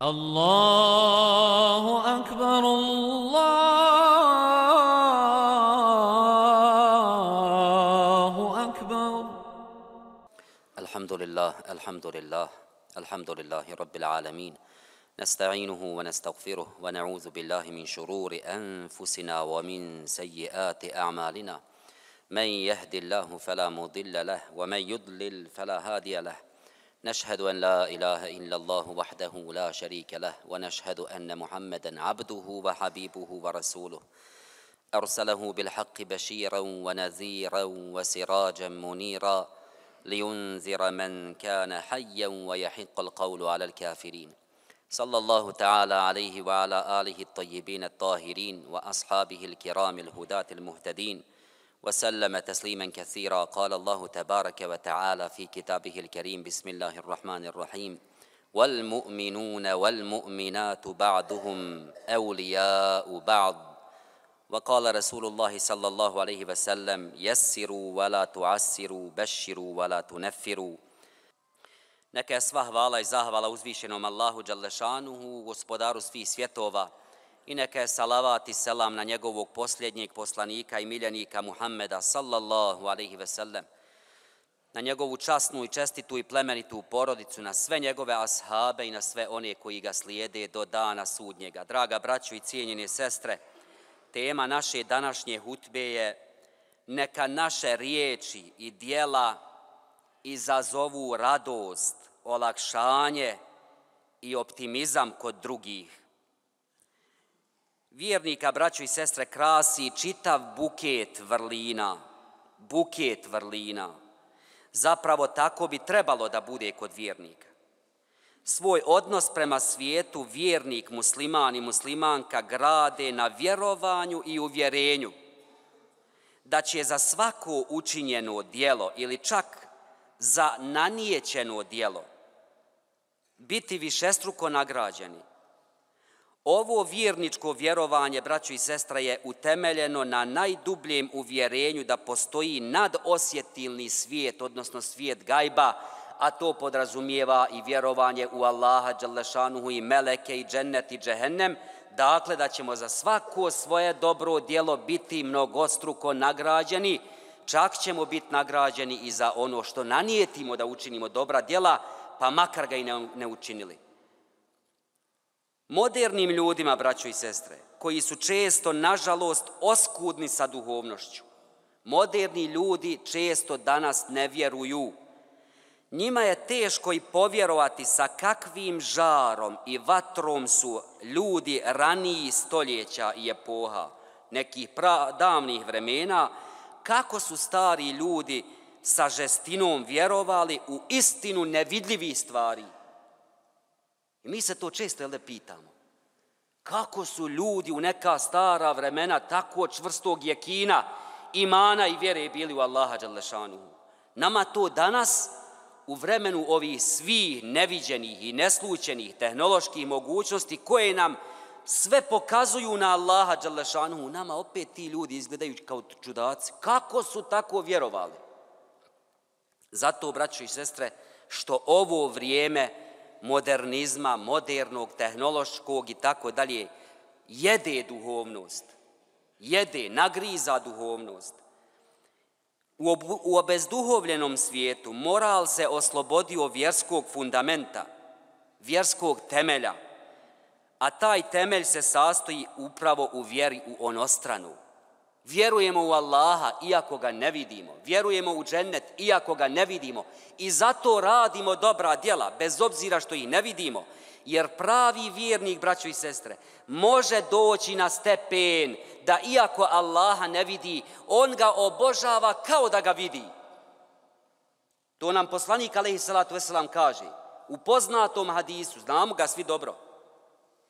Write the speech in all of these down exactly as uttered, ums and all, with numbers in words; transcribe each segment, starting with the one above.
الله أكبر الله أكبر. الحمد لله الحمد لله الحمد لله رب العالمين، نستعينه ونستغفره ونعوذ بالله من شرور أنفسنا ومن سيئات أعمالنا، من يهد الله فلا مضل له ومن يضلل فلا هادي له. نشهد أن لا إله إلا الله وحده لا شريك له، ونشهد أن محمدًا عبده وحبيبه ورسوله، أرسله بالحق بشيرًا ونذيرًا وسراجًا منيرًا لينذر من كان حيًّا ويحق القول على الكافرين. صلى الله تعالى عليه وعلى آله الطيبين الطاهرين وأصحابه الكرام الهداة المهتدين، وسلم تسليما كثيرا. قال الله تبارك وتعالى في كتابه الكريم: بسم الله الرحمن الرحيم: والمؤمنون والمؤمنات بعضهم أولياء بعض. وقال رسول الله صلى الله عليه وسلم: يسروا ولا تعسروا، بشروا ولا تنفروا. Neka je sva hvala i zahvala uzvišenom Allahu Đalešanuhu, gospodaru svih svjetova, i neka je salavat i selam na njegovog posljednjeg poslanika i miljenika Muhammeda sallallahu alaihi ve sellem, na njegovu časnu i čestitu i plemenitu porodicu, na sve njegove ashabe i na sve one koji ga slijede do dana sudnjega. Draga braćo i cijenjene sestre, tema naše današnje hutbe je: neka naše riječi i djela izazovu radost, olakšanje i optimizam kod drugih. Vjernika, braćo i sestre, krasi čitav buket vrlina, buket vrlina. Zapravo tako bi trebalo da bude kod vjernika. Svoj odnos prema svijetu vjernik, musliman i muslimanka grade na vjerovanju i uvjerenju da će za svako učinjeno djelo ili čak za nanijećeno djelo biti višestruko nagrađeni. Ovo vjerničko vjerovanje, braćo i sestra, je utemeljeno na najdubljem uvjerenju da postoji nadosjetilni svijet, odnosno svijet gajba, a to podrazumijeva i vjerovanje u Allaha Đalešanuhu i meleke i džennet i džehennem, dakle da ćemo za svako svoje dobro djelo biti mnogostruko nagrađeni, čak ćemo biti nagrađeni i za ono što nanijetimo da učinimo dobra djela, pa makar ga i ne, ne učinili. Modernim ljudima, braćo i sestre, koji su često, nažalost, oskudni sa duhovnošću, moderni ljudi često danas ne vjeruju. Njima je teško i povjerovati sa kakvim žarom i vatrom su ljudi ranijih stoljeća i epoha, nekih pra, davnih vremena, kako su stari ljudi sa žestinom vjerovali u istinu nevidljivih stvari. I mi se to često jel, pitamo. Kako su ljudi u neka stara vremena tako čvrstog jekina, imana i vjere bili u Allaha Đalešanuhu? Nama to danas, u vremenu ovih svih neviđenih i neslućenih tehnoloških mogućnosti koje nam sve pokazuju na Allaha Đalešanuhu, nama opet ti ljudi izgledaju kao čudaci. Kako su tako vjerovali? Zato, braćo i sestre, što ovo vrijeme modernizma, modernog, tehnološkog i tako dalje, jede duhovnost, jede, nagriza duhovnost. U, ob, u obezduhovljenom svijetu moral se oslobodio vjerskog fundamenta, vjerskog temelja, a taj temelj se sastoji upravo u vjeri u onostranu. Vjerujemo u Allaha iako ga ne vidimo, vjerujemo u džennet iako ga ne vidimo i zato radimo dobra djela bez obzira što ih ne vidimo, jer pravi vjernik, braćo i sestre, može doći na stepen da iako Allaha ne vidi, on ga obožava kao da ga vidi. To nam poslanik alejhi salatu vesselam kaže u poznatom hadisu, znamo ga svi dobro: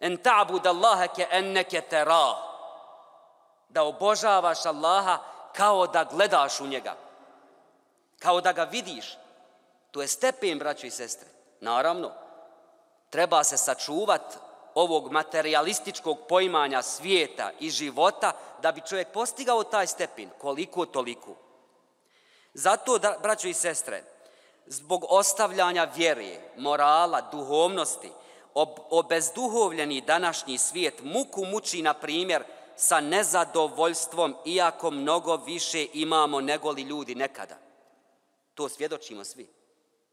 en ta'bud Allaha ke enneke terah, da obožavaš Allaha kao da gledaš u njega, kao da ga vidiš. To je stepen, braćo i sestre. Naravno, treba se sačuvati ovog materialističkog poimanja svijeta i života da bi čovjek postigao taj stepen, koliko toliko. Zato, braćo i sestre, zbog ostavljanja vjere, morala, duhovnosti, obezduhovljeni današnji svijet muku muči, na primjer, sa nezadovoljstvom, iako mnogo više imamo nego li ljudi nekada. To svjedočimo svi.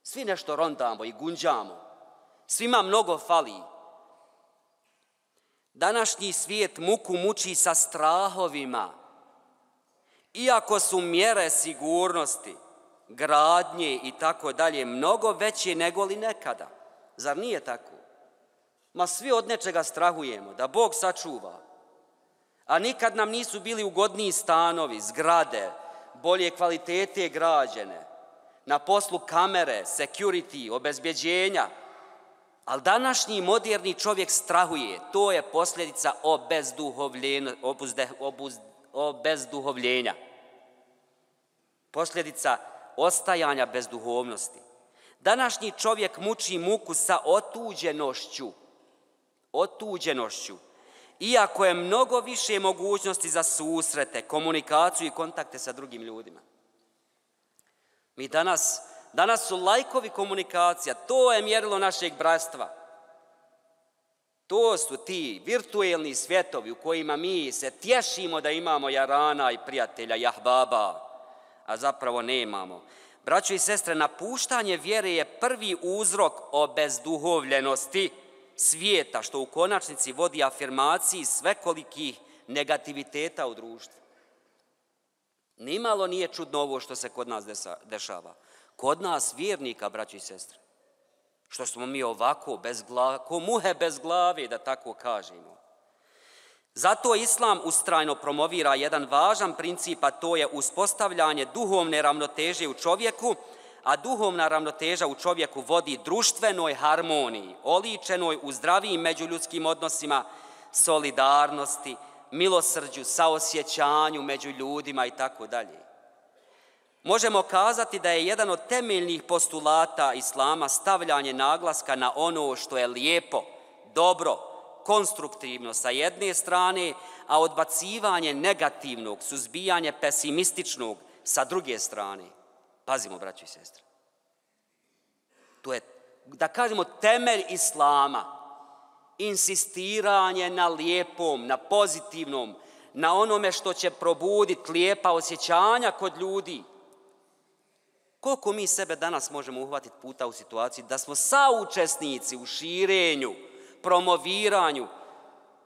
Svi nešto rondamo i gunđamo. Svima mnogo fali. Današnji svijet muku muči sa strahovima. Iako su mjere sigurnosti, gradnje i tako dalje mnogo veće nego li nekada. Zar nije tako? Ma svi od nečega strahujemo, da Bog sačuva. A nikad nam nisu bili ugodniji stanovi, zgrade, bolje kvalitete građene, na poslu kamere, security, obezbjeđenja. Ali današnji moderni čovjek strahuje. To je posljedica obezduhovljenja. Posljedica ostajanja bez duhovnosti. Današnji čovjek muči muku sa otuđenošću. Otuđenošću. Iako je mnogo više mogućnosti za susrete, komunikaciju i kontakte sa drugim ljudima. Mi danas, danas su lajkovi komunikacija, to je mjerilo našeg bratstva. To su ti virtuelni svjetovi u kojima mi se tješimo da imamo jarana i prijatelja, jahbaba, a zapravo nemamo. Braćo i sestre, napuštanje vjere je prvi uzrok obezduhovljenosti svijeta, što u konačnici vodi afirmaciji svekolikih negativiteta u društvu. Nimalo nije čudno ovo što se kod nas dešava. Kod nas vjernika, braći i sestre, što smo mi ovako, bez glave, ko muhe bez glave, da tako kažemo. Zato Islam ustrajno promovira jedan važan princip, a to je uspostavljanje duhovne ravnoteže u čovjeku, a duhovna ravnoteža u čovjeku vodi društvenoj harmoniji, oličenoj u zdravijim međuljudskim odnosima, solidarnosti, milosrđu, saosjećanju među ljudima i tako dalje. Možemo kazati da je jedan od temeljnih postulata Islama stavljanje naglaska na ono što je lijepo, dobro, konstruktivno sa jedne strane, a odbacivanje negativnog, suzbijanje pesimističnog sa druge strane. Pazimo, braći i sestre. To je, da kažemo, temelj Islama. Insistiranje na lijepom, na pozitivnom, na onome što će probuditi lijepa osjećanja kod ljudi. Koliko mi sebe danas možemo uhvatiti puta u situaciji da smo saučesnici u širenju, promoviranju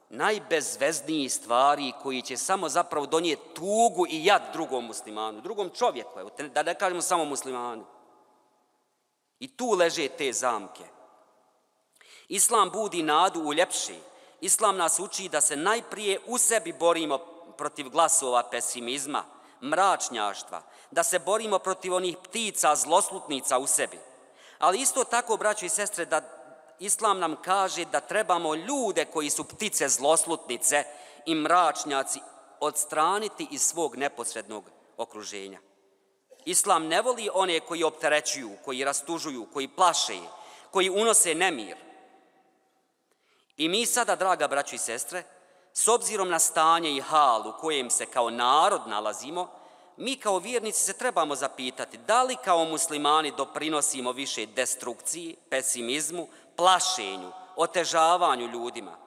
najbezveznijih stvari koji će samo zapravo donijeti tugu i jad drugom muslimanu, drugom čovjeku, evo, da ne kažemo samo muslimanu. I tu leže te zamke. Islam budi nadu u ljepše. Islam nas uči da se najprije u sebi borimo protiv glasova pesimizma, mračnjaštva, da se borimo protiv onih ptica, zloslutnica u sebi. Ali isto tako, braćo i sestre, da Islam nam kaže da trebamo ljude koji su ptice, zloslutnice i mračnjaci odstraniti iz svog neposrednog okruženja. Islam ne voli one koji opterećuju, koji rastužuju, koji plaše, koji unose nemir. I mi sada, draga braćo i sestre, s obzirom na stanje i hal u kojem se kao narod nalazimo, mi kao vjernici se trebamo zapitati da li kao muslimani doprinosimo više destrukciji, pesimizmu, plašenju, otežavanju ljudima.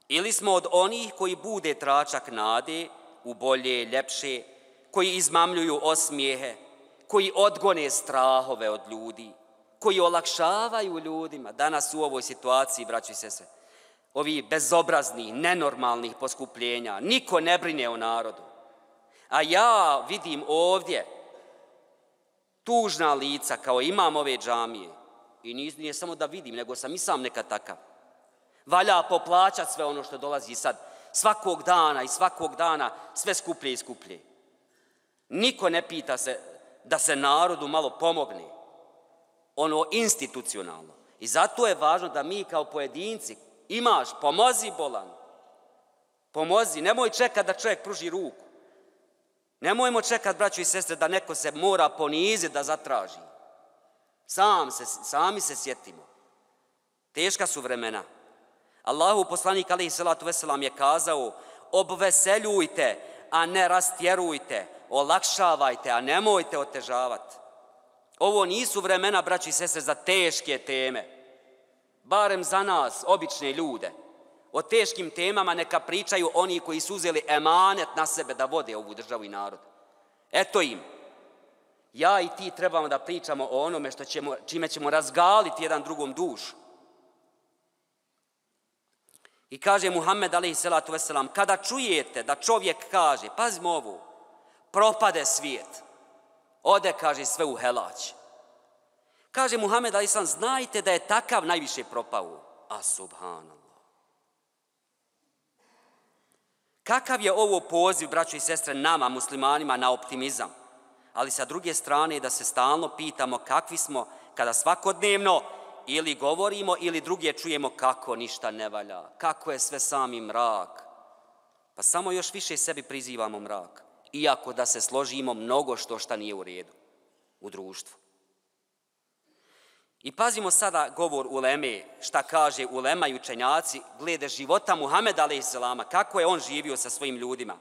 Ili smo od onih koji bude tračak nade u bolje, ljepše, koji izmamljuju osmijehe, koji odgone strahove od ljudi, koji olakšavaju ljudima. Danas u ovoj situaciji, braćo i sestre, ovi bezobraznih, nenormalnih poskupljenja, niko ne brine o narodu. A ja vidim ovdje tužna lica kao imam ove džamije. I nije samo da vidim, nego sam i sam nekad takav. Valja poplaćati sve ono što dolazi sad. Svakog dana i svakog dana sve skuplje i skuplje. Niko ne pita se da se narodu malo pomogne. Ono institucionalno. I zato je važno da mi kao pojedinci imaš, pomozi bolan. Pomozi, nemoj čekati da čovjek pruži ruku. Nemojmo čekati, braćo i sestre, da neko se mora poniziti da zatraži. Sam se, sami se sjetimo. Teška su vremena. Allahu poslanik alejhi salatu vesselam je kazao: obveseljujte, a ne rastjerujte, olakšavajte, a nemojte otežavati. Ovo nisu vremena, braćo i sestre, za teške teme. barem za nas, obične ljude. O teškim temama neka pričaju oni koji su uzeli emanet na sebe da vode ovu državu i narod. Eto im. Ja i ti trebamo da pričamo o onome što ćemo, čime ćemo razgaliti jedan drugom dušu. I kaže Muhammed alejhi selatu vesselam, kada čujete da čovjek kaže, pazimo ovo, propade svijet, ode, kaže, sve u helać. Kaže Muhammed alejhi selam, znajte da je takav najviše propao. A subhanallah. Kakav je ovo poziv, braćo i sestre, nama, muslimanima, na optimizam? Ali sa druge strane da se stalno pitamo kakvi smo kada svakodnevno ili govorimo ili druge čujemo kako ništa ne valja, kako je sve sami mrak. Pa samo još više sebi prizivamo mrak, iako da se složimo mnogo što šta nije u redu u društvu. I pazimo sada govor uleme, šta kaže ulema i učenjaci glede života Muhameda alejhi selama, kako je on živio sa svojim ljudima.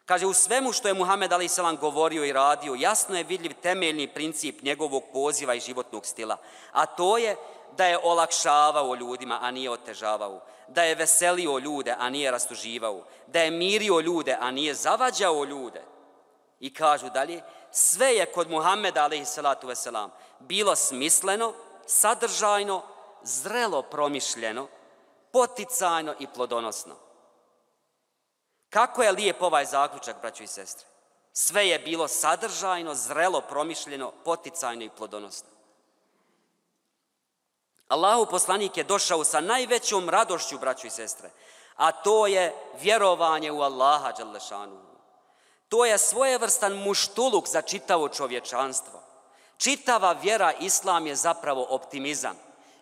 Kaže, u svemu što je Muhammed alejhi selam govorio i radio, jasno je vidljiv temeljni princip njegovog poziva i životnog stila, a to je da je olakšavao ljudima, a nije otežavao, da je veselio ljude, a nije rastuživao, da je mirio ljude, a nije zavađao ljude. I kažu dalje, sve je kod Muhammeda alejhi selatu veselam bilo smisleno, sadržajno, zrelo promišljeno, poticajno i plodonosno. Kako je lijep ovaj zaključak, braćo i sestre? Sve je bilo sadržajno, zrelo promišljeno, poticajno i plodonosno. Allahu poslanik je došao sa najvećom radošću, braćo i sestre, a to je vjerovanje u Allaha dželle šanuhu. To je svojevrstan muštuluk za čitavo čovječanstvo. Čitava vjera islam je zapravo optimizam.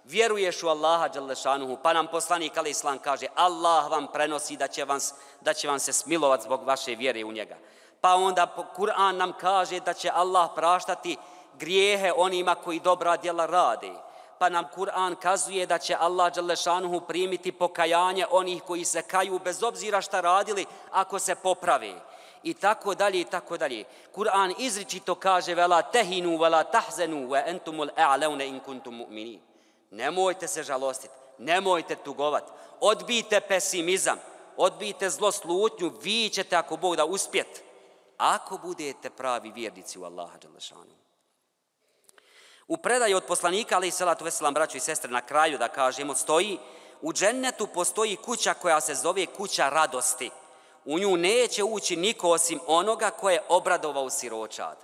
Vjeruješ u Allaha dželle šanuhu, pa nam poslanik alejhi selam kaže Allah vam prenosi da će, vam, da će vam se smilovati zbog vaše vjere u njega. Pa onda Kur'an nam kaže da će Allah praštati grijehe onima koji dobra djela rade. Pa nam Kur'an kazuje da će Allah dželle šanuhu primiti pokajanje onih koji se kaju bez obzira šta radili ako se poprave. I tako dalje, i tako dalje. Kur'an izričito kaže vela tehinu, vela tahzenu, ve entumul a'launa in kuntum mu'minin. Nemojte se žalostiti, nemojte tugovati, odbijte pesimizam, odbijte zloslutnju, vi ćete ako Bog da uspjeti, ako budete pravi vjernici u Allaha dželle šanuhu. U predaji od poslanika alejhi selatu vesselam, braćo i sestre, na kraju da kažemo, stoji u džennetu postoji kuća koja se zove kuća radosti. U nju neće ući niko osim onoga koje je obradovao siročad.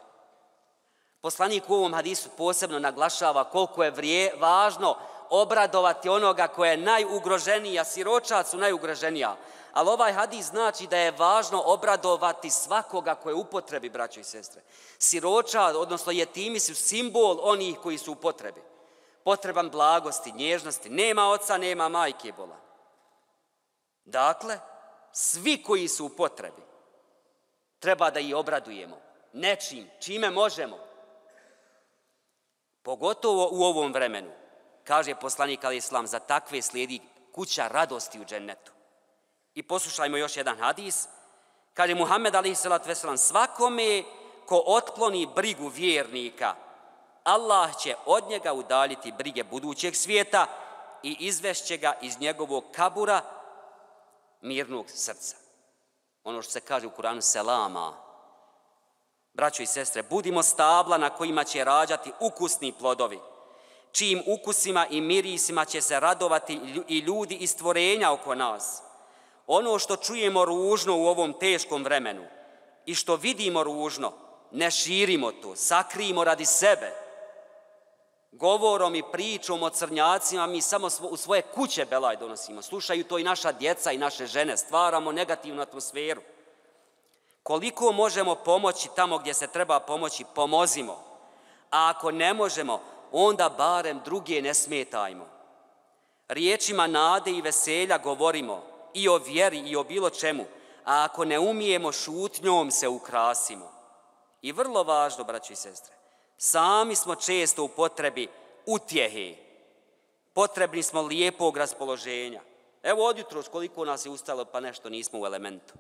Poslanik u ovom hadisu posebno naglašava koliko je vrije, važno obradovati onoga koje je najugroženija, siročad su najugroženija. Ali ovaj hadis znači da je važno obradovati svakoga koje je u potrebi, braćo i sestre. Siročad, odnosno jetimi, su simbol onih koji su u potrebi. Potreban blagosti, nježnosti, nema oca, nema majke bola. Dakle, svi koji su u potrebi treba da ih obradujemo nečim, čime možemo. Pogotovo u ovom vremenu, kaže poslanik alejhi selam, za takve slijedi kuća radosti u džennetu. I poslušajmo još jedan hadis. Kaže Muhammed alejhi selatu vesselam, svakome ko otkloni brigu vjernika, Allah će od njega udaljiti brige budućeg svijeta i izvešće ga iz njegovog kabura mirnog srca. Ono što se kaže u Kuranu selama. Braćo i sestre, budimo stabla na kojima će rađati ukusni plodovi, čijim ukusima i mirisima će se radovati i ljudi i stvorenja oko nas. Ono što čujemo ružno u ovom teškom vremenu i što vidimo ružno, ne širimo to, sakrijimo radi sebe. Govorom i pričom o crnjacima mi samo u svoje kuće belaj donosimo. Slušaju to i naša djeca i naše žene. Stvaramo negativnu atmosferu. Koliko možemo pomoći tamo gdje se treba pomoći, pomozimo. A ako ne možemo, onda barem druge ne smetajmo. Riječima nade i veselja govorimo i o vjeri i o bilo čemu. A ako ne umijemo, šutnjom se ukrasimo. I vrlo važno, braći i sestre, sami smo često u potrebi utjehe. Potrebni smo lijepog raspoloženja. Evo od jutros koliko nas je ustalo pa nešto nismo u elementu.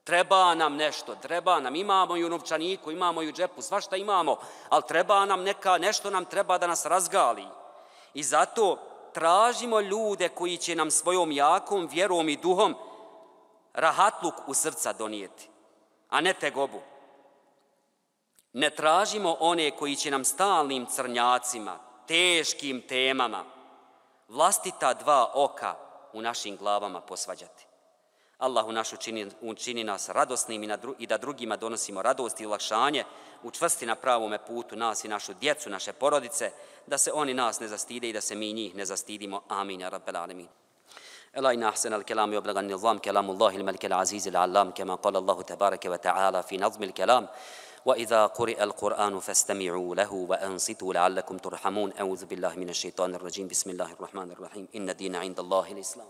Treba nam nešto, treba nam, imamo i u novčaniku, imamo i u džepu, svašta imamo, ali treba nam neka, nešto nam treba da nas razgali. I zato tražimo ljude koji će nam svojom jakom vjerom i duhom rahatluk u srca donijeti, a ne tegobu. Ne tražimo one koji će nam stalnim crnjacima, teškim temama, vlastita dva oka u našim glavama posvađati. Allahu naš učini, učini nas radosnim i, na dru, i da drugima donosimo radost i olakšanje, učvrsti na pravome putu nas i našu djecu, naše porodice, da se oni nas ne zastide i da se mi njih ne zastidimo. Amin, ja rabbel alamin. ألا إن أحسن الكلام وأبلغ النظام كلام الله الملك العزيز العلام كما قال الله تبارك وتعالى في نظم الكلام وإذا قرئ القرآن فاستمعوا له وأنصتوا لعلكم ترحمون أعوذ بالله من الشيطان الرجيم بسم الله الرحمن الرحيم إن الدين عند الله الإسلام